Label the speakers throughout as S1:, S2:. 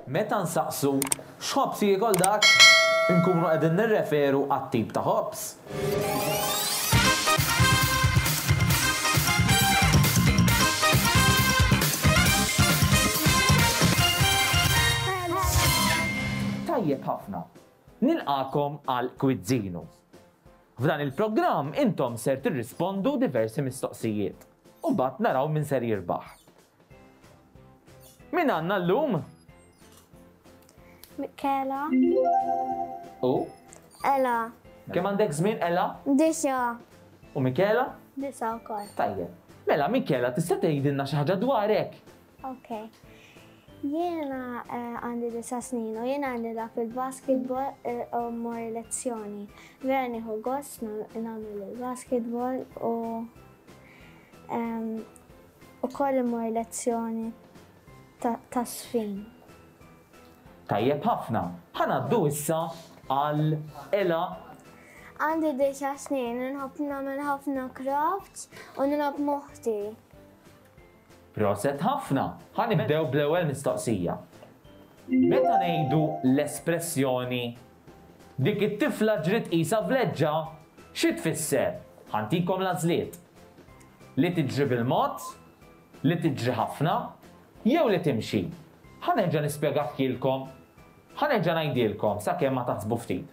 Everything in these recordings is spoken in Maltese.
S1: Meta nsaqsu x'ħobż jiekol dak, inkunu qegħdin nirreferu għat-tip ta' ħobż. Tajjeb ħafna. Nilqagħkom għal Kwizzinu. F'dan il-programm intom ser tirrispondu diversi mistoqsijiet u mbagħad naraw min ser jirbaħ. Min għandna llum?
S2: Michela.
S1: U?
S2: Ela.
S1: Kemm għandek żmien Ela?
S2: Disa.
S1: U Michela?
S2: Disa wkoll.
S1: Tajjeb. Mela Michela tista' tgħidilna xi ħaġa dwarek?
S2: Ok. Jiena eh, għandi disa snin u jiena nilgħab il-basketball eh, u mmur lezzjoni. Vera nieħu gost nagħmel il-basketball u Ukoll immur lezzjoni ta' żfin.
S1: Tajjeb ħafna. Ħa ngħaddu issa għal Ela.
S2: Għandi disa' snin, inħobb nagħmel ħafna crafts u nilgħab m'oħti.
S1: Proset ħafna. Ħa nibdew bl-ewwel mistoqsija. Meta ngħidu l-espressjoni dik it-tifla ġriet qisha vleġġa, xi tfisser? Ħa ntikom l-għażliet. Li tiġri bil-mod, li tiġri ħafna, jew li timxi. Ħa nerġa' nispjegahielkom, ħa nerġa' ngħidhielkom sakemm ma taħsbu ftit.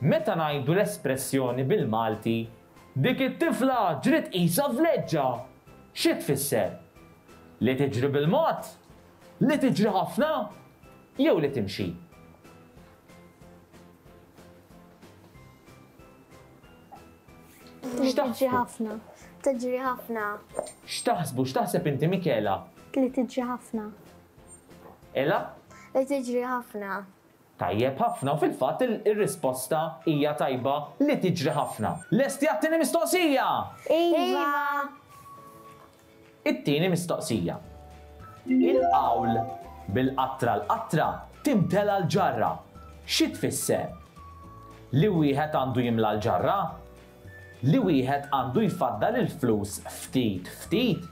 S1: Meta ngħidu l-espressjoni bil-Malti dik it-tifla ġriet qisha vleġġa, xi tfisser? Li tiġri bil-mod, li tiġri ħafna, jew li timxi?
S2: Tiġri ħafna. Tiġri ħafna.
S1: X'taħsbu, x'taħseb inti Michela?
S2: Li tiġri ħafna.
S1: Ela?
S2: Li tiġri ħafna.
S1: Tajjeb ħafna u fil-fatt ir-risposta hija tajba li tiġri ħafna. Lesti għat-tieni mistoqsija?
S2: Iva!
S1: It-tieni mistoqsija. Il-qawl bil-qatra l-qatra timtela l-ġarra xi tfisser? Li wieħed għandu jimla l-ġarra? Li wieħed għandu jfaddal il-flus ftit ftit?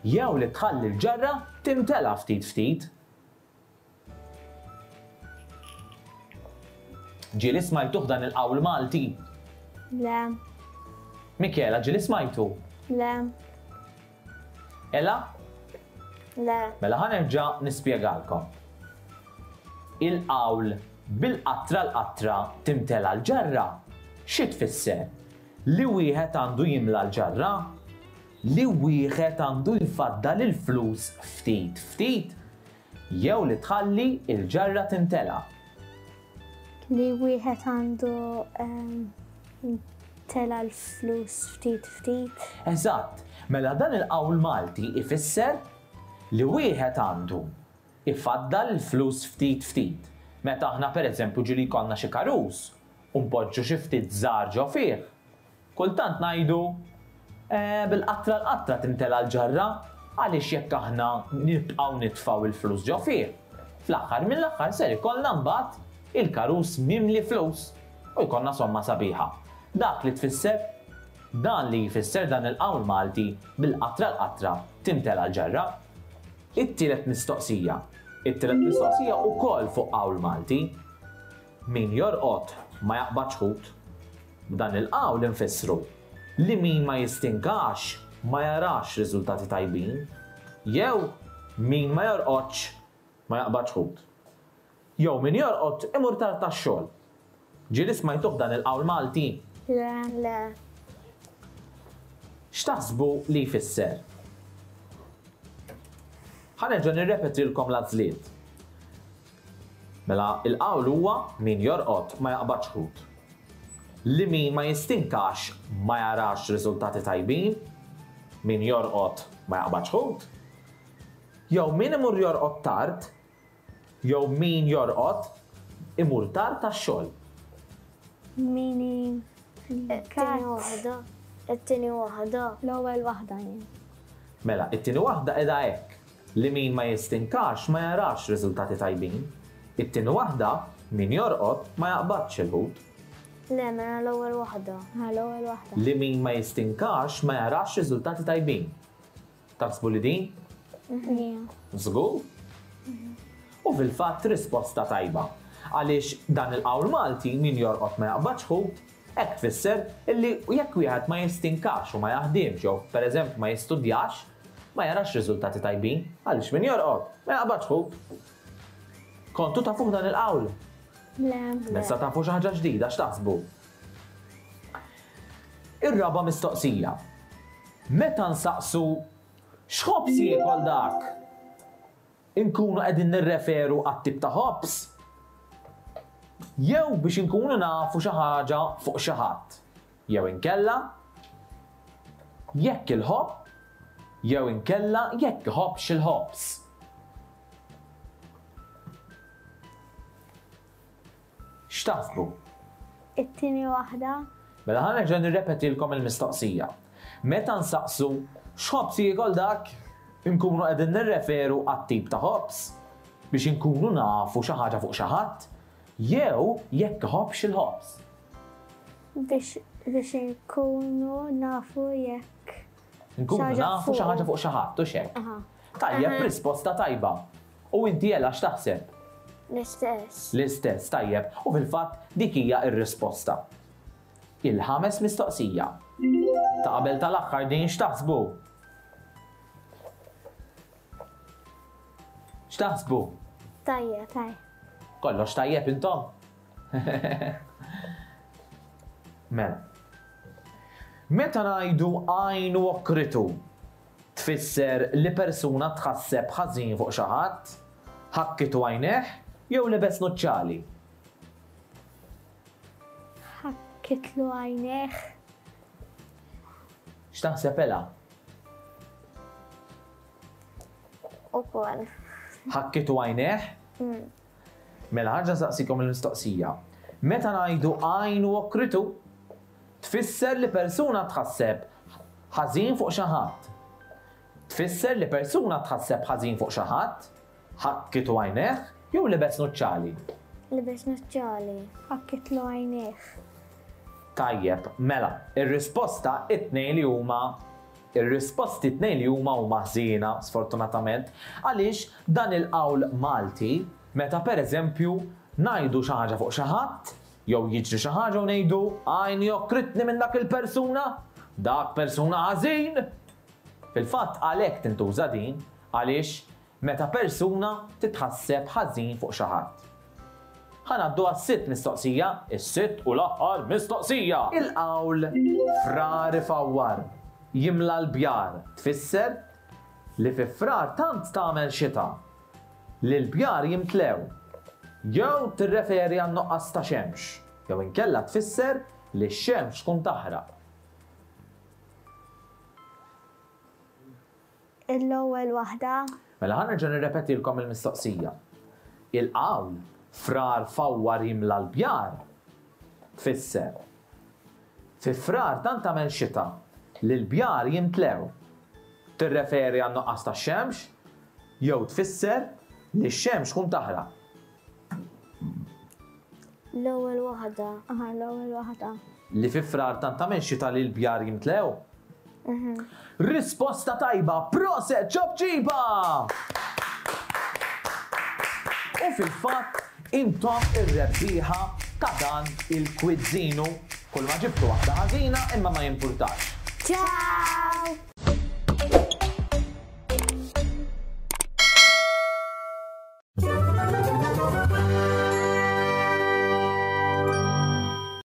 S1: Jew li tħalli l-ġarra timtela ftit ftit? Ġieli smajtuh dan il-qawl Malti?
S2: Le.
S1: Michela, ġieli smajtu?
S2: Le.
S1: Ela?
S2: Le.
S1: Mela ħa nerġa' nispjegalkom. Il-qawl bil-qatra l-qatra timtela l-ġarra xi tfisser? Li wieħed għandu jimla l-ġarra? Li wieħed għandu jfaddal il-flus ftit ftit? Jew li tħalli l-ġarra timtela.
S2: Li wieħed għandu tela l-flus ftit ftit.
S1: Eżatt, mela dan il-qawl Malti ifisser li wieħed għandu ifaddal il-flus ftit ftit. Meta aħna pereżempju ġieli jkollna xi karus u npoġġu xi ftit żgħar ġo fih, Kultant ngħidu, Eh, bil-qatra l-qatra timtela l-ġarra, għaliex jekk aħna nibqgħu nitfgħu l-flus ġo fih, fl-aħħar mill-aħħar ser ikollna mbagħad il-karus mimli flus u jkollna somma sabiħa. Dak li tfisser dan li jfisser dan il-qawl Malti bil-qatra l-qatra timtela l-ġarra. It-tielet mistoqsija. It-tielet mistoqsija wkoll fuq qawl Malti. Min jorqod ma jaqbadx ħut. B'dan il-qawl infissru li min ma jistinkax ma jarax riżultati tajbin, jew min ma jorqodx ma jaqbadx ħut. Jew min jorqod imur tard għax-xogħol. Ġieli smajtuh dan il-qawl Malti?
S2: Le. Le.
S1: X'taħsbu li jfisser? Ħa nerġa' nirrepetilkom l-għażliet. Mela il-qawl huwa min jorqod ma jaqbadx ħut. Li min ma jistinkax ma jarax riżultati tajbin, min jorqod ma jaqbadx ħut. Jew min imur jorqod tard, jew min jorqod imur tard għax-xogħol.
S2: Min It-tieni waħda. It-tieni waħda. L-ewwel waħda jien.
S1: Mela, it-tieni waħda qiegħda hekk. Li min ma jistinkax ma jarax riżultati tajbin. It-tieni waħda, min jorqod ma jaqbadx il-ħut.
S2: Le, mela l-ewwel waħda. Ha, l-ewwel waħda.
S1: Li min ma jistinkax ma jarax riżultati tajbin. Taħsbu li din?
S2: Ija.
S1: Żgur? U fil-fatt risposta tajba. Għaliex dan il-qawl Malti min jorqod ma jaqbadx ħut, hekk tfisser illi jekk wieħed ma jistinkax u ma jaħdimx jew pereżempju ma jistudjax, ma jarax riżultati tajbin għaliex min jorqod ma jaqbadx ħut. Kontu tafuh dan il-qawl?
S2: Le.
S1: Messa tafu xi ħaġa ġdida x'taħsbu? Ir-raba' mistoqsija. Meta nsaqsu x'ħobż jiekol dak? Inkunu qegħdin nirreferu għat-tip ta' ħobż? Jew biex inkunu nafu xi ħaġa fuq xi ħadd? Jew inkella jekk il-ħobb jew inkella jekk iħobbx il-ħobż. X'taħsbu?
S2: It-tieni waħda.
S1: Mela ħa nerġa' nirrepetilkom il-mistoqsija. Meta nsaqsu x'ħobż jiekol dak, inkunu qegħdin nirreferu għat-tip ta' ħobż biex inkunu nafu xi ħaġa fuq xi ħadd jew jekk iħobbx il-ħobż.
S2: Biex biex inkunu nafu jekk.
S1: Nkunu nafu xi ħaġa fuq xi ħadd, u x'hekk. Tajjeb, risposta tajba. U inti Ella x'taħseb?
S2: L-istess.
S1: L-istess, tajjeb. U fil-fatt dik hija r-risposta. Il-ħames mistoqsija. Ta' qabel tal-aħħar din x'taħsbu? X'taħsbu?
S2: Tajjeb, tajjeb.
S1: Kollox tajjeb intom? Mela. Meta ngħidu għajn u okritu, Tfisser li persuna tħasseb ħażin fuq xi ħadd, ħakkitu għajnejh jew libes nuċċali.
S2: Ħakkitlu għajnejh.
S1: X'taħseb Ela?
S2: Ukoll.
S1: Ħakkitu għajnejh?
S2: Mm.
S1: Mela ħaġa saqsikom il-mistoqsija. Meta ngħidu għajn u okritu, Tfisser li persuna tħasseb ħażin fuq xi ħadd. Tfisser li persuna tħasseb ħażin fuq xi ħadd, ħakkitu għajnejh jew libes nuċċali.
S2: Libes nuċċali. Ħakkitlu għajnejh.
S1: Tajjeb, mela, ir-risposta it-tnejn li huma ir-risposti t-tnejn li huma huma ħżiena, sfortunatament, għaliex dan il-qawl Malti meta pereżempju ngħidu xi ħaġa fuq xi ħadd, Jew jiġri xi ħaġa u ngħidu, għajni okkritni minn dak il-persuna, dak persuna ħażin! Fil-fatt għalhekk tintuża din, għaliex meta persuna titħasseb ħażin fuq xi ħadd. Ħa ngħaddu għas-sitt mistoqsija, is-sitt u l-aħħar mistoqsija! Il-qawl frar ifawwar, jimla l-bjar tfisser li fi Frar tant tagħmel xita li l-bjar jimtlew, jew tirreferi għan-nuqqas ta' xemx, jew inkella tfisser li x-xemx tkun taħraq.
S2: L-ewwel waħda.
S1: Mela ħa nerġa' nirrepetilkom il-mistoqsija. Il-qawl frar fawwar jimla l-bjar tfisser Fi Frar tant tagħmel xita li l-bjar jimtlew. Tirreferi għan-nuqqas ta' xemx jew tfisser li x-xemx tkun taħraq.
S2: L-ewwel waħda. Aha, l-ewwel waħda.
S1: Li fi Frar tant tagħmel xita li l-bjar jimtlew? Risposta tajba, proset ċopċipa! U fil-fatt intom ir-rebbieħa ta' dan il-kwizzinu. Kull ma ġibtu waħda ħażina imma ma jimpurtax.
S2: Ciao!